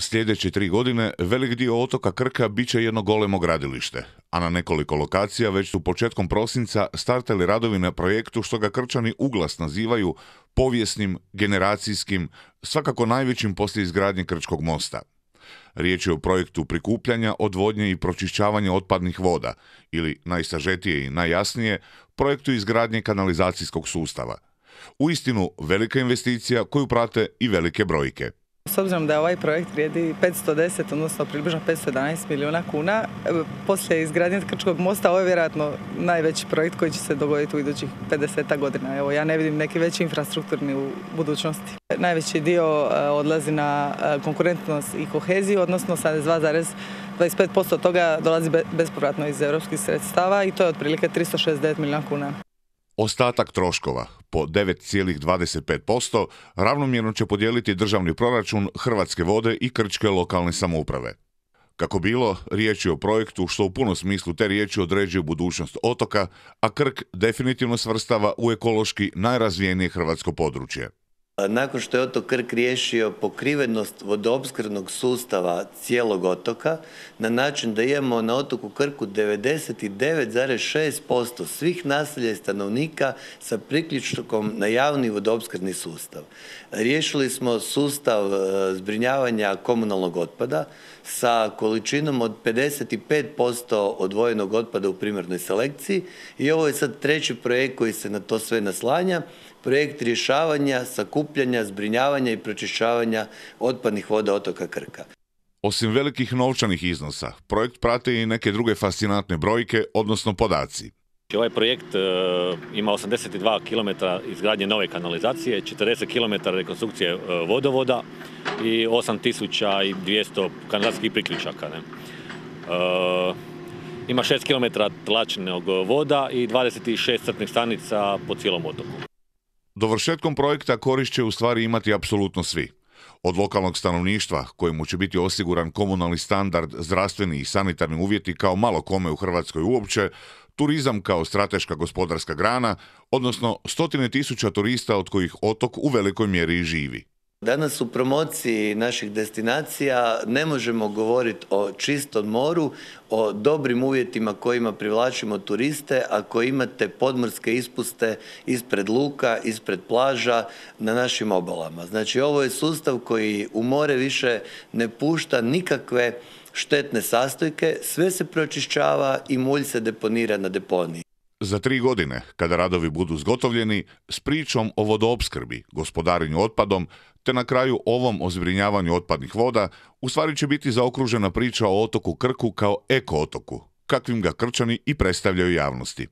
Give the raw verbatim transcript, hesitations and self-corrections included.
Sljedeće tri godine velik dio otoka Krka bit će jedno golemo gradilište, a na nekoliko lokacija već su početkom prosinca startali radovi na projektu što ga Krčani uglas nazivaju povijesnim, generacijskim, svakako najvećim poslije izgradnje Krčkog mosta. Riječ je o projektu prikupljanja, odvodnje i pročišćavanja otpadnih voda, ili najsažetije i najjasnije, projektu izgradnje kanalizacijskog sustava. Uistinu velika investicija koju prate i velike brojke. S obzirom da ovaj projekt vrijedi petsto deset, odnosno približno petsto jedanaest milijuna kuna, poslije izgradnje Krčkog mosta ovo je vjerojatno najveći projekt koji će se dogoditi u idućih pedeset godina. Evo, ja ne vidim neki veći infrastrukturni u budućnosti. Najveći dio odlazi na konkurentnost i koheziju, odnosno sedamdesет dva zarez dvadeset pet posto toga dolazi bespovratno iz europskih sredstava i to je otprilike tristo šezdeset devet milijuna kuna. Ostatak troškova, po devet zarez dvadeset pet posto, ravnomjerno će podijeliti državni proračun, Hrvatske vode i krčke lokalne samouprave. Kako bilo, riječ je o projektu što u punom smislu te riječi određuje budućnost otoka, a Krk definitivno svrstava u ekološki najrazvijenije hrvatsko područje. Nakon što je otok Krk riješio pokrivenost vodoopskrbnog sustava cijelog otoka na način da imamo na otoku Krku devedeset devet zarez šest posto svih naselja i stanovnika sa priključkom na javni vodoopskrbni sustav. Riješili smo sustav zbrinjavanja komunalnog otpada sa količinom od pedeset pet posto odvojenog otpada u primarnoj selekciji i ovo je sad treći projekt koji se na to sve naslanja. Projekt rješavanja, sakupljanja, zbrinjavanja i pročišćavanja otpadnih voda otoka Krka. Osim velikih novčanih iznosa, projekt prate i neke druge fascinantne brojke, odnosno podaci. Ovaj projekt e, ima osamdeset dva kilometra izgradnje nove kanalizacije, četrdeset kilometara rekonstrukcije e, vodovoda i osam tisuća dvjesto kanalizacijskih priključaka. Ne? E, ima šest kilometara tlačnog voda i dvadeset šest crpnih stanica po cijelom otoku. Dovršetkom projekta korist će u stvari imati apsolutno svi. Od lokalnog stanovništva, kojemu će biti osiguran komunalni standard, zdravstveni i sanitarni uvjeti kao malo kome u Hrvatskoj uopće, turizam kao strateška gospodarska grana, odnosno stotine tisuća turista od kojih otok u velikoj mjeri i živi. Danas u promociji naših destinacija ne možemo govoriti o čistom moru, o dobrim uvjetima kojima privlačimo turiste, ako imate podmorske ispuste ispred luka, ispred plaža na našim obalama. Znači ovo je sustav koji u more više ne pušta nikakve štetne sastojke, sve se pročišćava i mulj se deponira na deponiji. Za tri godine, kada radovi budu zgotovljeni, s pričom o vodoopskrbi, gospodarenju otpadom, te na kraju ovom o zbrinjavanju otpadnih voda, u stvari će biti zaokružena priča o otoku Krku kao eko-otoku, kakvim ga Krčani i predstavljaju javnosti.